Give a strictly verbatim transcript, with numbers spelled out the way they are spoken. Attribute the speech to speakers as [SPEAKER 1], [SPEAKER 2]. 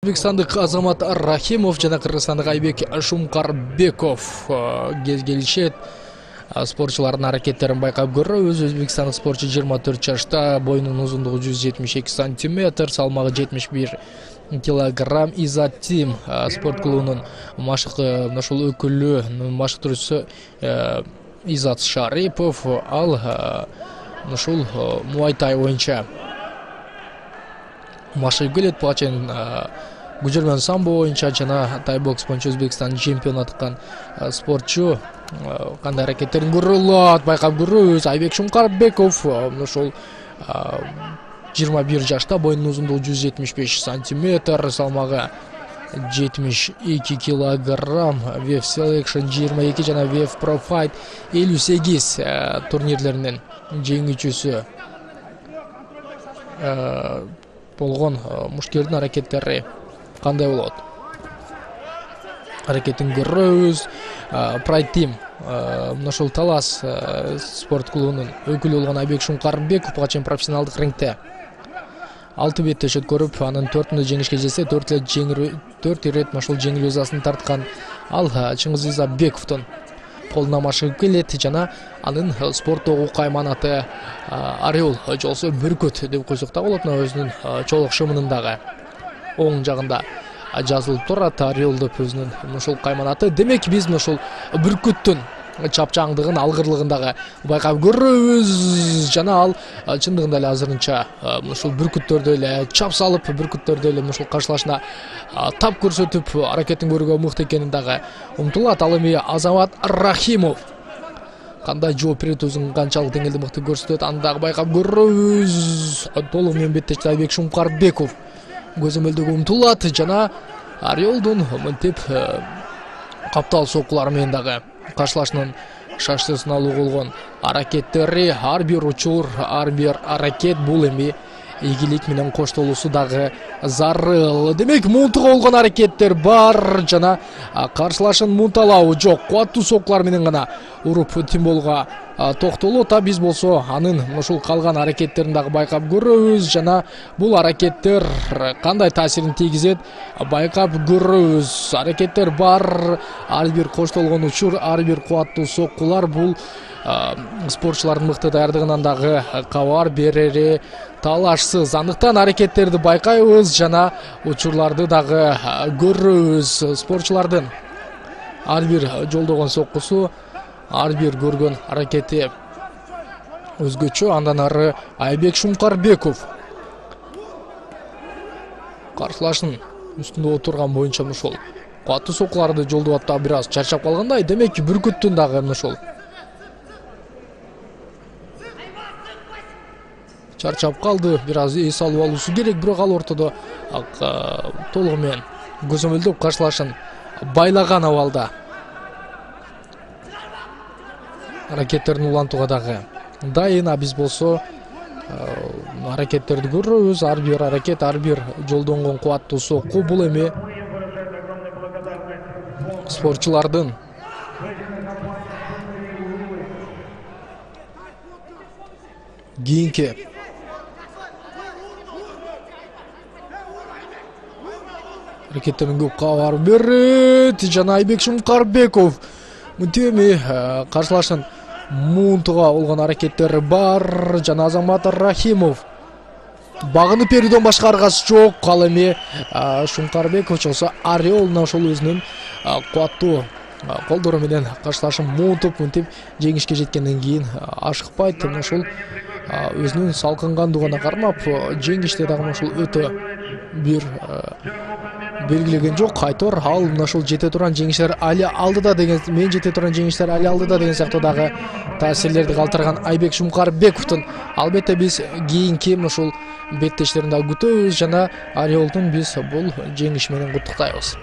[SPEAKER 1] Өзбекстандык Азамат Рахимов жана кыргызстандык Айбек Шумкарбеков кез келишет. Спортчулардын аракеттерин байкап көрөбүз. Өзбекстандык спортчу жыйырма төрт жашта, боюнун узундугу жүз жетимиш эки сантиметр, салмагы жетимиш бир килограмм. Изат Тим спорт клубунун машык ошол өкүлү, машыктыруучусу Изат Шарипов, ал ушул муайтай боюнча машыгып келет. Буга чейин Гужермен самбо боюнча жана тайбокс боюнча Өзбекстан чемпион аткан спортчу. Кандай аракеттерин көрөлөт, байкап көрөбүз. Айбек Шумкарбеков ошол жыйырма бир жашта, боюнун узундугу жүз жетимиш беш сантиметр, салмагы жетимиш эки килограмм. Вев Selection жыйырма эки жана Вев Pro Fight элүү сегиз турнирлеринин жеңүүчүсү болгон мушкердин аракеттери кандай болот? Аракетин көрөбүз. Pride Team ошол Талас спорт клубунун өкүлү болгон Айбек Шумкарбеков буга чейин профессионалдык рингте алты беттеш өткөрүп, анын төртүндө жеңишке жетсе, төрт эле жеңил төрт ирет ошол жеңил язасын тарткан. Ал Чыңгыз Изабековдун колуна машыгып келет жана анын спорттогу кайманаты Орел жолсо бүркөт деп койсок да болот. Өзүнүн чолок шымынын дагы оң жагында жазылып турат Орел деп өзүнүн ошол кайманаты. Демек биз ошол бүркөттүн чапчаңдыгын, алгырлыгын дагы байкап көрөбүз жана ал чындыгында эле азырынча ошол бүркүттөрдө эле чап салып, бүркүттөрдө эле ошол каршылашына тап көрсөтүп, аракетин көрүүгө мыкты экенин дагы умтулат. Ал эми Азамат Рахимов кандай жооп берет, өзүн канчалык деңгээлде мыкты көрсөтөт, аны дагы байкап көрөбүз. Толук менен беттешти Айбек Шумкарбеков көзөмөлдөгө умтулат жана Орелдун мынтип каптал соккулары менен дагы каршылашынын шаштысын алуу болгон аракеттери, ар бир учур, ар бир аракет бул эми ийгилик менен коштолуусу дагы зарыл. Демек муунтуга болгон аракеттер бар жана каршылашын муунталабы жок, кубаттуу соккулар менен гана уруп тимболго токтолот. А биз болсо анын ушул калган аракеттерин дагы байкап көрөбүз жана бул аракеттер кандай таасирин тийгизет байкап көрөбүз. Аракеттер бар, ар бир коштолгон учур, ар бир кубаттуу соккулар бул спортчулардын мыкты даярдыгынан дагы кабар берери талашсыз. Андыктан аракеттерди байкайбыз жана учурларды дагы көрөбүз. Спортчулардын ар бир жолдогон соккусу, ар бир көргөн аракети өзгөчө. Андан ары Айбек Шумкарбеков каршылашын үстүндө отурган боюнча ошол кубаттуу соккуларды жолдоп ата бир аз чарчап калгандай. Демек бүркүттүн дагы ошол чарчап калды, бир аз эс алып алуусу керек, бирок ал ортодо толугу менен көзөмөлдөп каршылашын байлаган абалда. Аракеттерин улантууга дагы дайын. А биз болсо аракеттерди көрөбүз. Ар бир аракет, ар бир жолдонгон кубаттуу сокку бул эми спортчулардын кийинки аракеттерин көп кабар берет жана Айбек Шумкарбеков мынтип эми каршылашын муунтуга болгон аракеттери бар жана Азамат Рахимов багынып берүүдөн башка аргасы жок. Ал эми Шумкарбеков болсо Орел ошол өзүнүн кубаттуу колдору менен каршылашын муунтуп мынтип жеңишке жеткенден кийин ашыкпайт. Ошол өзүнүн салкынгандыгына кармап жеңиште дагы ошол өтө бир белгилеген жок. Айтор ал ошол жете турган жеңиштер али алдыда деген, мен жете турган жеңиштер али алдыда деген сыяктуу дагы таасирлерди калтырган Айбек Шумкарбековдун албетте биз кийинки ошол беттештерин дагы күтөбүз жана Орелдун биз бул жеңиш менен куттуктайбыз.